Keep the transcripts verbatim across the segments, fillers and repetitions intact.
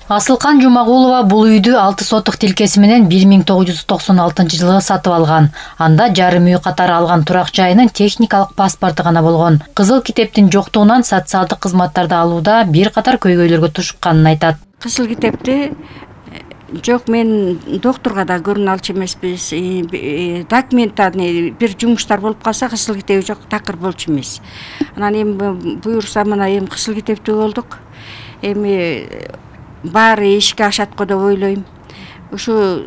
Асылкан Жумагулова бул үйдү алты сотук тилкеси менен бир миң тогуз жүз токсон алтынчы жылы сатып алган. Анда жарым үй катары алган турак жайынын техникалык паспорту гана болгон. Кызыл китептин жоктугунан социалдык кызматтарды алууда бир катар көйгөйлөргө тушукканын айтат. Кызыл китепти жок, мен доктурга да көрүнө алчу эмеспиз. Документарный бир жумуштар болуп калса, кызыл китеби жок, такыр болчу эмес. Анан эми буюрса мына эми кызыл китептүү болдук. Эми баары ишке ашат го деп ойлойм. Ушу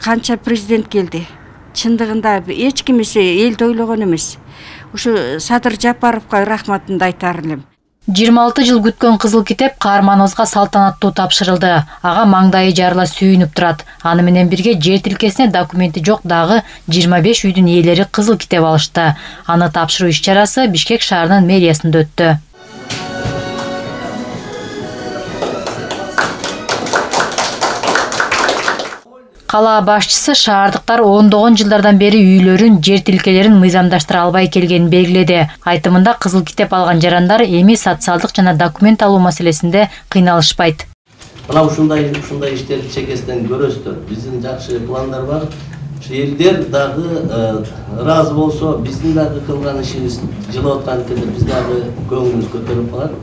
канча президент келди. Чындыгында эч кимиси элди ойлогон эмес. Ушу Садыр Жапаровго рахматымды айтар элем. жыйырма алты жыл күткөн кызыл китеп каарманыбызга салтанаттуу тапшырылды. Ага маңдайы жарыла сүйүнүп турат. Аны менен бирге жер тилкесине документи жок дагы жыйырма беш үйдүн ээлери кызыл китеп алышты. Аны тапшыруу иш-чарасы Бишкек шаарынын мэриясында өттү. Кала башчысы шаардыктар ондогон жылдардан бери үйлөрүн, жер тилкелерин мыйзамдаштыра албай келгенин белгиледи. Айтымында кызыл китеп алган жарандар эми социалдык жана документ алуу маселесинде кыйналышпайт. Мына ушундай ушундай иштерди чекесинен көрөсүздөр. Биздин жакшы пландар бар. Ушу элдер дагы ыраазы болсо, биздин дагы кылган ишибиз жылып аткан кезде биз дагы көңүлүбүз көтөрүлүп калат.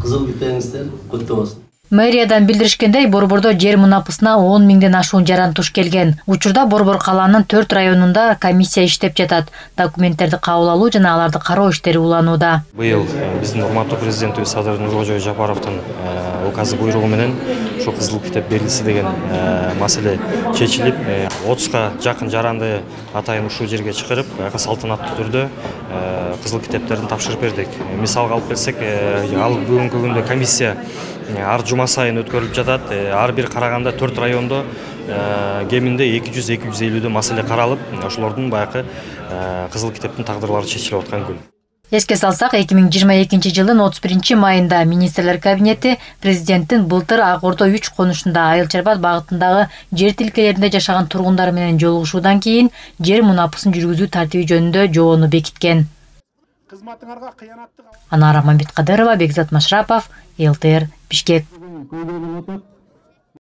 Кызыл китебиңиздер күттүү болсун. Мэриядан билдиришкендей, Борбордо жер мунапысына он миңден ашуун жаран туш келген. Учурда Борбор калаанын төрт районунда комиссия иштеп жатат. Документтерди кабыл алуу жана аларды кароо иштери уланууда. Быйыл биздин урматтуу президентибиз Садыр Нуркожоевич Жапаровдун указы буйругу менен ушу кызыл китеп берилси деген маселе чечилип, отузга жакын жаранды атайын ушул жерге чакырып, салтанаттуу түрдө кызыл китептерин тапшырып бердик. Мисалга алып келсек, ал бүгүнкү күндө комиссия ар жума сайын өткөрүлүп жатат. Ар бир караганда төрт райондо кеминде эки жүз эки жүз элүү маселе каралып, ошолордун баягы кызыл китептин тагдырлары чечилип аткан күн. Эске салсак, эки миң жыйырма экинчи жылдын отуз биринчи майында министрлер кабинети президенттин былтыр Ак Ордо үч конушунда Айыл Чарбат багытындагы жер тилкелеринде жашаган тургундар менен жолугушуудан кийин жер мунапысын жүргүзүү тартиби жөнүндө жобону бекиткен. Анара Мамбеткадырова, Бекзат Машрапов, эл тэ эр, Бишкек.